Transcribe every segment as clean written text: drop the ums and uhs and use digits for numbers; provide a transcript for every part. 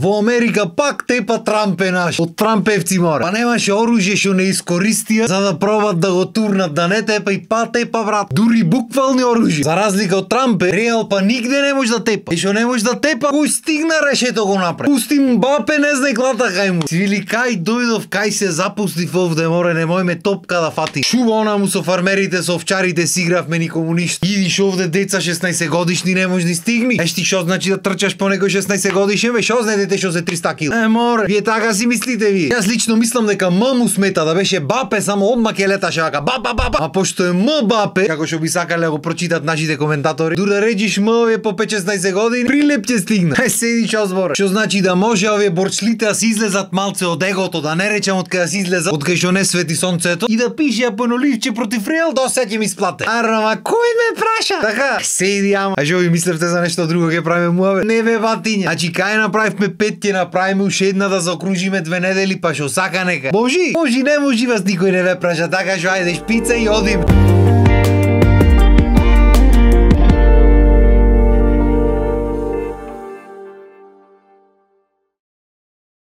Во Америка пак тепа Трамп е наш. Од Трампевци мора. Па немаше оружје што не искористија за да пробат да го турнат да не тепа и па тепа брат. Дури буквални оружје. За разлика од Трамп, Реал па нигде не може да тепа. И што не може да тепа, кој стигна решето го направи. Пусти Мбапе не знае глата кај му. Свили кај дојдов, кај се запустив овде, море, немој ме топка да фати. Шува она му со фармерите, со овчарите си игравме никому ништо. Идиш овде деца 16 годишни не може да стигни. Ешти што значи да трчаш по некој 16 годишен, бе, што знае дете што се 300 кг. Море, вие така си мислите вие. Јас лично мислам дека му смета да беше Бапе, само одма ќе леташе вака ба. А пошто е Мбапе, како што би сакале да го прочитат нашите коментатори, дур да речиш овие по 5-16 години, прилеп ќе стигна. Седи што збора. Што значи да може овие борчлите да се излезат малце од егото, да не речам од кај да се излезат, од кај што не свети сонцето и да пише апоноливче против Реал, да ќе ми сплате. Арама кој ме праша? Така, седи ама. А што ви мислевте за нешто друго ќе правиме муаве? Не бе батиња. Значи кај направивме 5, ќе направиме уште една да заокружиме 2 недели, па што сака нека. Можи, не можи вас никој не ве праша, така што ајде шпица и одиме.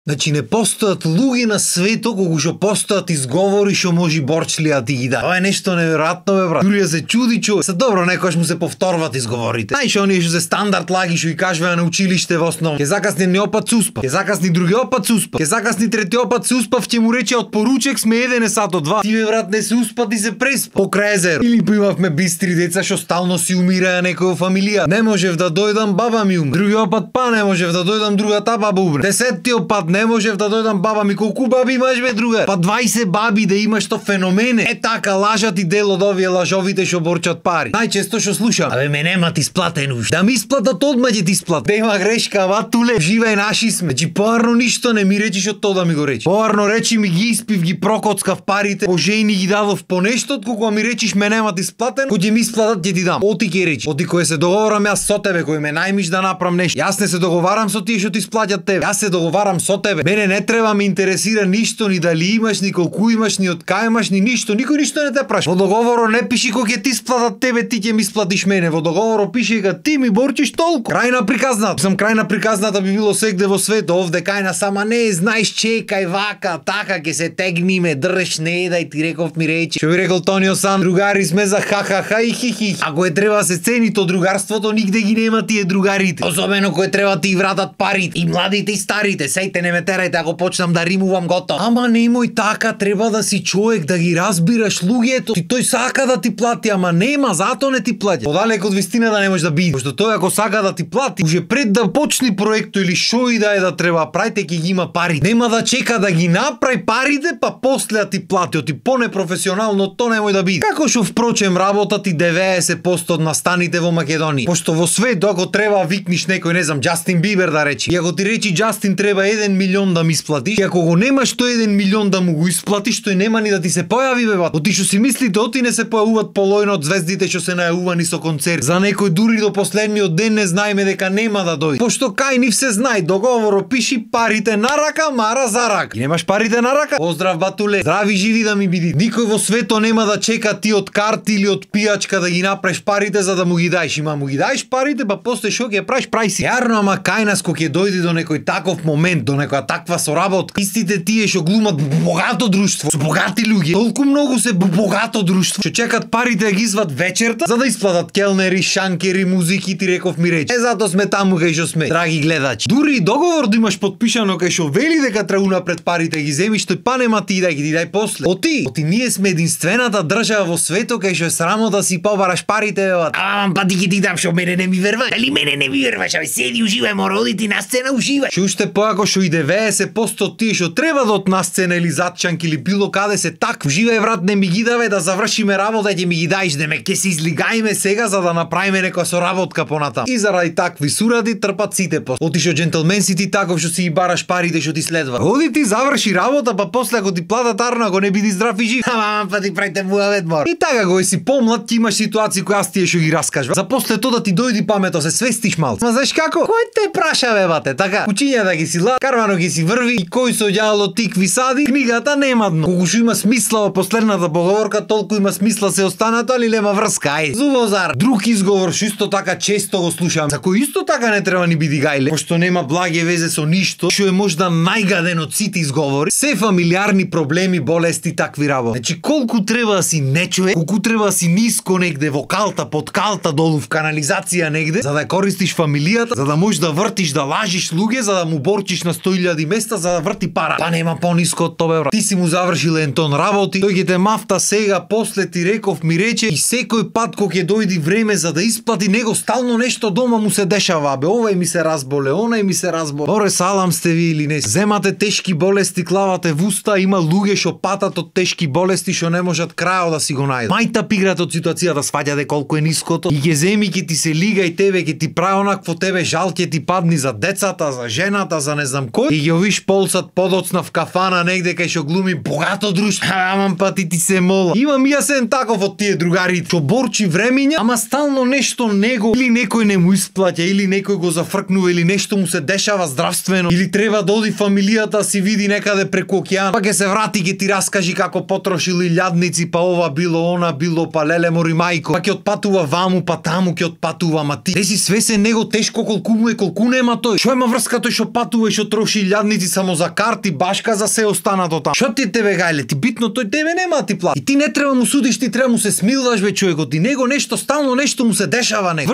Значи не постојат луѓе на светот кога што постојат изговори што може борчлија да ти ги даде. Ова е нешто неверојатно бе брат. Дури да се чуди човек. Се добро некојаш му се повторват изговорите. Знаеш оние што се стандард лаги што и кажува на училиште во основа. Ќе закасни едни опат се успав. Ќе закасни други опат се успав. Ќе закасни трети опат се успав, ќе му рече од поручек сме 1 сато 2. Ти бе брат не се успа, ти се преспа. Покрај езеро. Или имавме бистри деца што стално си умираја некој во фамилија. Не можев да дојдам, баба ми умре. Други опат па не можев да дојдам, другата баба умре. 10-ти опат не можев да дојдам, баба ми колку баби имаш бе друга? Па 20 баби да имаш то феномене. Е така лажат и дел од овие лажовите што борчат пари. Најчесто што слушам, абе ме нема ти сплатен уш. Да ми исплатат одма ќе ти сплат. Нема грешка, ава туле, живеј наши сме. Значи поарно ништо не ми речиш од тоа да ми го речи. Поарно речи ми ги испив, ги прокоцкав парите, пожејни ги дадов по нешто, кога ми речиш ме нема ти сплатен, кој ќе ми исплатат ќе ти дам. Оти ќе речи. Оти кој се договорам јас со тебе, кој ме најмиш да направам нешто. Јас не се договарам со тие што ти сплаќат тебе. Јас се договарам со тебе. Мене не треба ме интересира ништо, ни дали имаш, ни колку имаш, ни од кај имаш, ни ништо, никој ништо не те праша. Во договорот не пиши кој ќе ти сплатат тебе, ти ќе ми сплатиш мене. Во договорот пише дека ти ми борчиш толку. Крај на приказната. Сам крај на приказната би било сегде во светот, овде кај на сама не знаеш чекај вака, така ќе се тегниме, држ не дај ти реков ми речи. Што би рекол Тонио Сан, другари сме за ха-ха-ха и хи-хи. Ако е треба се цени то другарството, нигде ги нема тие другарите. Особено кој треба ти вратат парите, и младите и старите, сејте не ме терајте ако почнам да римувам готово. Ама немој така, треба да си човек да ги разбираш луѓето. Ти тој сака да ти плати, ама нема, затоа не ти плаќа. Подалеку од вистина да не може да биде. Пошто тој ако сака да ти плати, уже пред да почне проекто или шо и да е да треба прајте ќе ги има пари. Нема да чека да ги направи парите, па после да ти плати. Оти понепрофесионално то немој да биде. Како што впрочем работат и 90% од настаните во Македонија. Пошто во свет ако треба викниш некој, не знам, Џастин Бибер да речи. И ако ти речи Џастин треба 1 милион да ми исплатиш, и ако го немаш тој 1 милион да му го исплатиш, тој нема ни да ти се појави бе бат. Оти што си мислите, оти не се појавуваат полојно од звездите што се најавувани со концерт. За некој дури до последниот ден не знаеме дека нема да дојде. Пошто кај нив се знае, договорот пиши парите на рака, мара за рака. И немаш парите на рака? Поздрав батуле. Здрави живи да ми биди. Никој во светот нема да чека ти од карти или од пијачка да ги направиш парите за да му ги даеш. Има му ги даеш парите, па после што ќе правиш, прај си. Јарно, ама кај нас кога ќе дојде до некој таков момент, до некоја таква соработка, истите тие што глумат богато друштво, со богати луѓе, толку многу се богато друштво, што чекат парите да ги изват вечерта за да исплатат келнери, шанкери, музики, ти реков ми речи. Затоа сме таму кај што сме, драги гледачи. Дури договор да имаш подпишано кај што вели дека треба унапред парите ги земиш, тој па нема ти дај, ги дај после. Оти ние сме единствената држава во светот кај што е срамо да си побараш парите, бе. Па ти ги дам, што мене не ми веруваш. Дали мене не ми веруваш, абе седи уживај, мора одити на сцена уживај. Што уште поако што и 90% тие што треба да од на сцена или затчанки или било каде се так, уживај брат, не ми ги даве да завршиме работа, ќе ми ги даиш, да ме ќе се излигајме сега за да направиме некоја соработка понатаму. И заради такви суради трпат сите по. Отишо џентелмен си ти таков што си ги бараш парите што ти следва. Оди ти заврши работа, па после ако ти платат арно, ако не биди здрав и жив. Ама па ти правите муавет мор. И така кога си помлад ти имаш ситуации кои аз тие што ги раскажувам. За после тоа да ти дојди памето, се свестиш малку. Ма знаеш како? Кој те праша бе бате, така? Учиња да ги си карвано спокојно ќе си врви и кој со ѓаволот тикви сади, книгата нема дно. Колку што има смисла во последната поговорка, толку има смисла се останато, али нема врска. Ај, зубозар. Друг изговор што исто така често го слушам, за кој исто така не треба ни биди гајле, пошто нема благе везе со ништо, што е можда најгаден од сите изговори, се фамилиарни проблеми, болести, такви работи. Значи колку треба да си нечовек, колку треба да си ниско негде во калта, под калта, долу в канализација негде, за да користиш фамилијата, за да можеш да вртиш, да лажиш луѓе, за да му борчиш на 100.000 места, за да врти пара. Па нема пониско од тоа, брат. Ти си му завршил ентон работи, тој ќе те мафта сега, после ти реков, ми рече и секој пат кога ќе дојди време за да исплати, него стално нешто дома му се дешава, бе, овај ми се разболе, онај ми се разболе. Оре, салам сте ви или не? Земате тешки болести, клавате в уста, има луѓе што патат од тешки болести што не можат крајот да си го најдат. Мајта пиграт од ситуацијата, сваѓате колку е ниското. И ќе земи, ќе ти се лига и тебе, ќе ти прави онакво тебе, жал ќе ти падни за децата, за жената, за не знам кој. И ќе виш полсат подоцна в кафана негде кај што глуми богато друштво. Амам па ти се мола. Имам јасен таков од тие другари што борчи времиња, ама стално нешто него или некој не му исплаќа, или некој го зафркнува, или нешто му се дешава здравствено, или треба да оди фамилијата си види некаде преку океан, па ќе се врати, ќе ти раскажи како потрошил илјадници, па ова било, она било, па леле мори мајко, па ќе отпатува ваму, па таму ќе отпатува, ма ти си свесен него тешко колку му е, колку нема тој. Што има врска тој што патува и што троши илјадници само за карти, башка за се останато таму. Што ти тебе гајле, ти битно тој тебе нема да ти плати. И ти не треба му судиш, ти треба му се смилваш бе човекот, и него нешто стално нешто му се дешава него.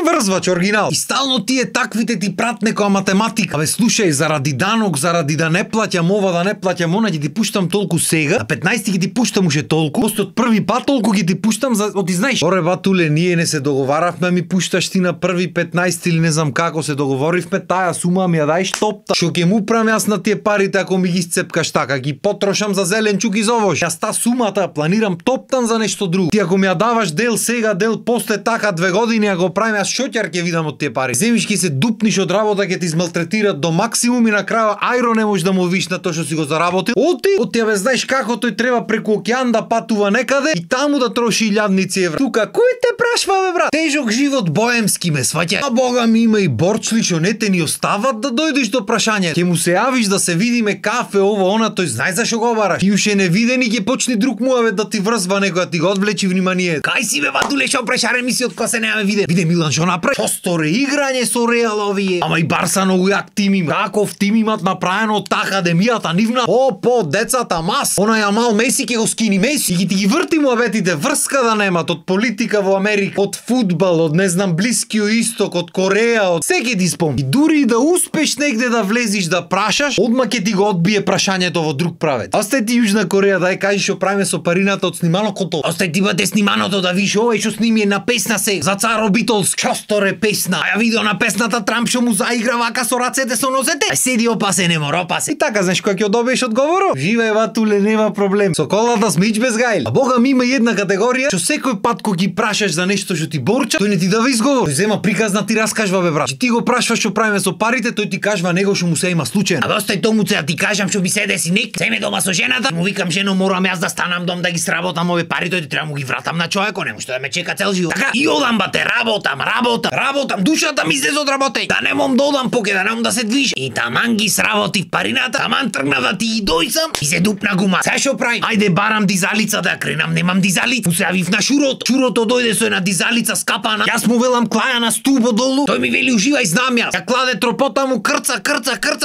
Врзвач оригинал. И стално тие таквите ти прат некоја математика. Абе слушај, заради данок, заради да не плаќам ова, да не плаќам она, ќе ти пуштам толку сега, а 15 ќе ти пуштам уште толку, после од први пат толку ќе ти пуштам за оти знаеш. Оре батуле, ние не се договаравме, ми пушташ ти на први 15 или не знам како се договоривме, таа сума ми ја дај топта. Што ќе му правам јас на тие парите ако ми ги сцепкаш така, ги потрошам за зеленчук и за овош. Јас та сумата планирам топтан за нешто друго. Ти ако ми ја даваш дел сега, дел после така 2 години, ако правим јас шоќар ќе видам од тие пари. Земиш ќе се дупниш од работа, ќе ти измалтретират до максимум и на крајот ајро не можеш да му виш на тоа што си го заработил. Оти бе знаеш како тој треба преку океан да патува некаде и таму да троши илјадници евра. Тука кој те прашва бе брат? Тежок живот боемски ме сваќа. А бога ми има и борчли што не те ни остават да дојдеш до прашањето. Ќе му се јавиш да се видиме кафе ово она, тој знае зашо го бараш. И уште не видени ќе почне друг муавет да ти врзва некоја, ти го одвлечи внимание. Кај си бе батуле што прешаре мисиот кога се немаме виде. Виде Милан што направи. Што реиграње со Реал овие. Ама и Барса многу јак тим има. Каков тим имат направено од таа академијата нивна. По децата мас. Она Јамал Меси ќе го скини Меси. И ти ги врти муаветите, врска да немат од политика во Америка, од фудбал, од не знам Блискиот исток, од Кореја, од секи ти спомни. И дури да успеш негде да влезиш да прашаш, одма ќе ти го одбие прашањето во друг правец. Остај ти Јужна Кореја, дај кажи што правиме со парината од снималото. Остај ти бате сниманото да виш овој што сними е на песна се за Царо Битолс. Што сторе песна? А ја видео на песната Трамп што му заигра вака со рацете со нозете. А седи опасе, не мора опасе. И така знаеш кога ќе добиеш одговорот? Живеј батуле, нема проблем. Со колата смич без гајле. А бога ми има една категорија што секој пат кога ги прашаш за нешто што ти борча, тој не ти дава изговор. Тој зема приказна ти раскажува бе брат. Ти го прашуваш што правиме со парите, тој ти кажува него што му се има случајно. А остај тому се да ти кажам што би се деси нек. Земе дома со жената, му викам жено морам јас да станам дом да ги сработам овие пари, тој ти треба му ги вратам на човекот, не може да ме чека цел живот. Така и одам бате, работам, душата ми излезе од работење. Да не мом да одам поке, да не мом да се движам. И таман ги сработив парината, таман тргнав да ти и дојсам и се дупна гума. Се што правим? Ајде барам дизалица да кренам, немам дизалица. Му се јавив на Шурото. Шурото дојде со една дизалица скапана. Јас му велам клаја на стубо долу. Тој ми вели уживај, знам јас. Ја кладе тропота му крца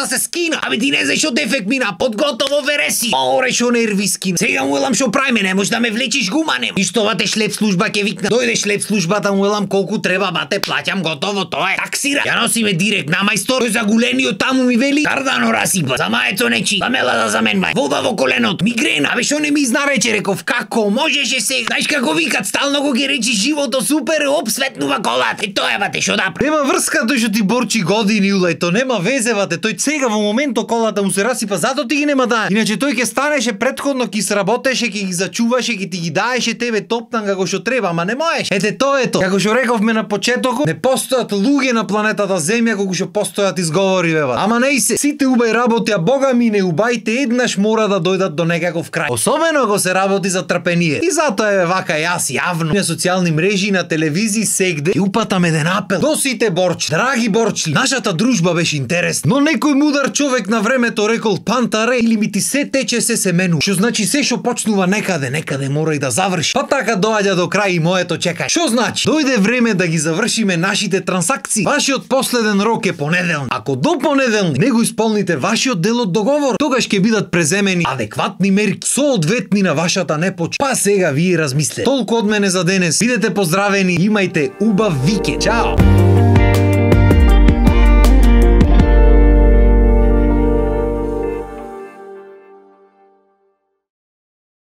се скина. Абе ти не знаеш што дефект мина, подготово вереси. Оре што нерви скина. Сега му велам што правиме, не можеш да ме влечиш гума, не. И што бате шлеп служба ќе викна. Дојде шлеп службата, му велам колку треба бате, плаќам готово, тоа е. Таксира. Ја носиме директ на мајстор. Тој за гулениот таму ми вели кардано расипа. За мајецо нечи. Замела за мен мај. Вода во коленот. Мигрена. Абе што не ми изнарече, реков како можеше сега. Знаеш како викат, стално го ги речи живото супер, оп светнува колата. И тоа е бате што да. Нема врска тој што ти борчи години улај, то нема везе бате. Тој сега во моментот колата му се расипа, затоа ти ги нема да. Иначе тој ќе станеше претходно, ќе сработеше, ќе ги зачуваше, ќе ти ги даеше тебе топтан како што треба, ама не можеш. Ете тоа е тоа. Како што рековме на почетокот, не постојат луѓе на планетата Земја колку што постојат изговори бе. Ама не и се. Сите убај работи, а бога ми не убајте еднаш мора да дојдат до некаков крај. Особено ако се работи за трпение. И затоа е вака јас јавно на социјални мрежи, на телевизии сегде и упатам еден апел до сите борчи. Драги борчли, нашата дружба беше интересна, но некој Некој мудар човек на времето рекол пантаре или ми ти се тече се мену. Што значи се што почнува некаде мора и да заврши. Па така доаѓа до крај и моето чекање. Што значи? Дојде време да ги завршиме нашите трансакции. Вашиот последен рок е понеделник. Ако до понеделник не го исполните вашиот дел од договор, тогаш ќе бидат преземени адекватни мерки соодветни на вашата непоч. Па сега вие размислете. Толку од мене за денес. Бидете поздравени, имајте убав викенд. Чао.